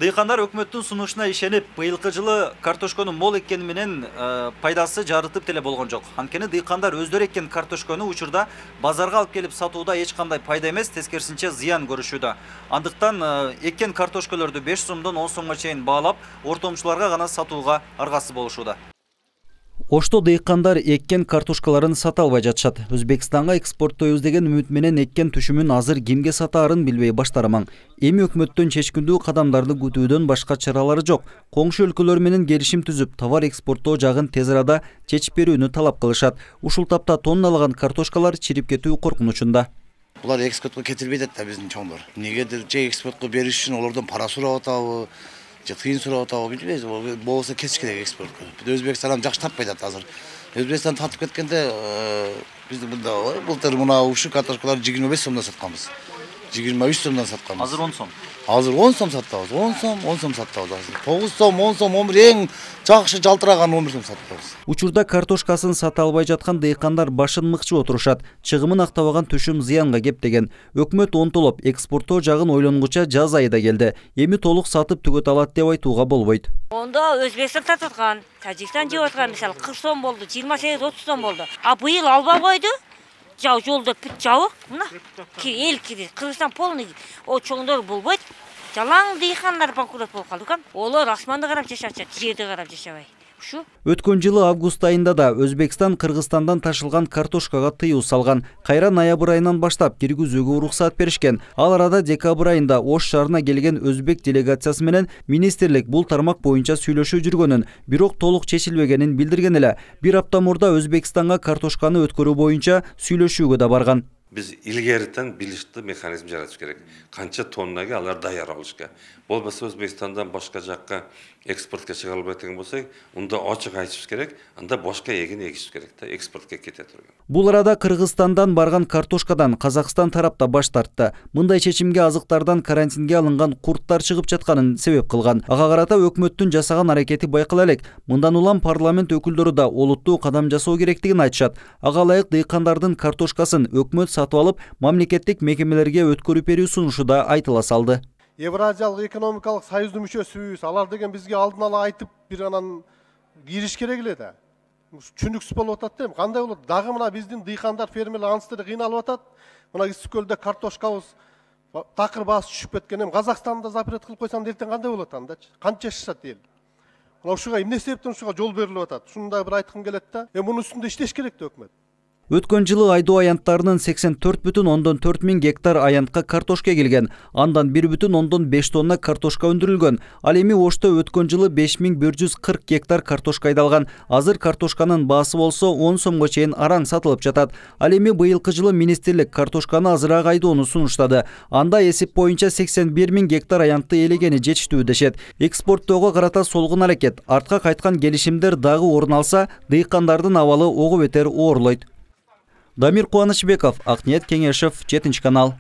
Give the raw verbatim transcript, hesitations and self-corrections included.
Дыйкандар өкмөттүн сунушуна ишенип, быйылкы жылы картошконун мол эккени менен пайдасы жарытып деле болгон жок. Анткени дыйкандар өздөрү эккен картошкону учурда базарга алып келип сатууда эч кандай пайда эмес, тескерисинче зыян көрүшүүдө. Андыктан эккен картошкаларды беш сомдон он сомго чейин баалап, ортомчуларга гана сатууга аргасыз болушууда. Ошто дыйкандар эккен картошкаларын сата албай жатышат. Өзбекстанга экспорттойбуз деген үмүт менен эккен түшүмүн азыр кимге сатаарын билбей баштарамаң. Эми өкмөттөн чечкиндүү кадамдарды күтүүдөн башка чаралары жок. Коңшу өлкөлөр менен келишим түзүп, товар экспорттоо жагын тез арада чечип берүүнү талап кылышат. Ушул тапта тонналаган картошкалар чирип кетүү коркунучунда. Булар экспортко кетирбейт да биздин чоңдор. Негедир же экспортко бериш үчүн олордон пара сурап атабы, же тыйын сурап атабы билбейбиз. Болсо кетиш керек экспортко. Өзбекстан жакшы таппайт атат азыр. Өзбекстан тартып кеткенде биз мында былтыр мына ушул картошкаларды жыйырма беш сомдон сатканбыз. жыйырма үч сомдон сатканбыз. Азыр он сом. Азыр он сом сатабыз. он сом, он сом сатабыз азыр. тогуз сом, он сом, он бир эң жакшы жалтыраган он бир сом сатабыз. Учурда картошкасын сата албай жаткан дыйкандар башын мыкчып отурушат. Чыгымын актабаган түшүм зыянга кеп деген. Өкмөт онтолоп экспорттоо жагын ойлонгуча жаз айы да келди. Эми толук сатып түгөт алат деп айтууга болбойт. Онда Өзбекстан сатып аткан, Тажикстан жеп аткан, мисалы кырк сом болду, жыйырма сегиз отуз сом болду. А быйыл албай койду. Жау жолдо бүт жабык, мына эл кири, Кыргызстан полный о чоңдор болбойт. Жалаң дыйкандар банкрот болуп калды экен. Олар асманды карап жашашат, жерди карап жашабай. Ушу. Өткөн жылы август айында да Өзбекстан Кыргызстандан ташылган картошкага тыюу салган. Кайра ноябрь айынан баштап киргизүүгө уруксат беришкен. Ал арада декабрь айында Ош шаарына келген өзбек делегациясы менен министрлик бул тармак боюнча сүйлөшүү жүргөнүн, бирок толук чечилбегенин билдирген эле. Бир апта мурда Өзбекстанга картошканы өткөрүү боюнча сүйлөшүүгө да барган. Biz ilgeriden bilişli mekanizm yaratış gerek. Kança tonnaga alar dayar oluşka. Bolbasa Özbekistan'dan başka jakka eksportga çıga albaydigan bolsak, unda açık aytışыбыз керек, анда başka егин егишибиз керек да, экспортко кете турган. Бул арада Кыргызстандан барган картошкадан Казакстан тарапта баш тартты. Мындай чечимге азыктардан карантинге алынган курттар чыгып жатканын себеп кылган. Ага карата өкмөттүн жасаган аракети байкала элек. Мындан улам парламент өкүлдөрү да олуттуу кадам жасоо керектигин айтышат. Ага ылайык дыйкандардын картошкасын өкмөт сатып алып, мамлекеттик мекемелерге өткөрүп берүү сунушу да айтыла салды. Евразиялык экономикалык союздун мүчөсүбүз, алар деген бизге алдын ала айтып, бир анан кириш керек эле да. Түшүнүксүз болуп атат дейм. Кандай болот? Дагы мына биздин дыйкандар, фермерлер анысты кыйналып атат. Мына Ысык-Көлдө картошкабыз такыр баасы түшүп кеткен. Эми Казакстанда запрет кылып койсам делтен кандай болот андачы? Канча жашашат эл? Мына ушуга эмне себептен ушуга жол берилип атат? Шуну да бир айткым келет да. Эми мунун үстүндө иштеш керек да өкмөт. Өткөн жылы айдоо аянттарынын сексен төрт бүтүн ондон төрт миң гектар аянтка картошка келген. Андан бир бүтүн ондон беш тонна картошка өндүрүлгөн. Ал эми Ошто өткөн жылы беш миң бир жүз кырк гектар картошка айдалган. Азыр картошканын баасы болсо он сомго чейин араң сатылып жатат. Ал эми быйылкы жылы министрлик картошканы азыраак айдоону сунуштады. Анда эсеп боюнча сексен бир миң гектар аянтты элегени жетиштүү дешет. Экспорттоого карата солгун аракет, артка кайткан келишимдер дагы орун алса, дыйкандардын абалы ого бетер оорлойт. Дамир Кубанычбеков, Акниет Кеңешев, жетинчи канал.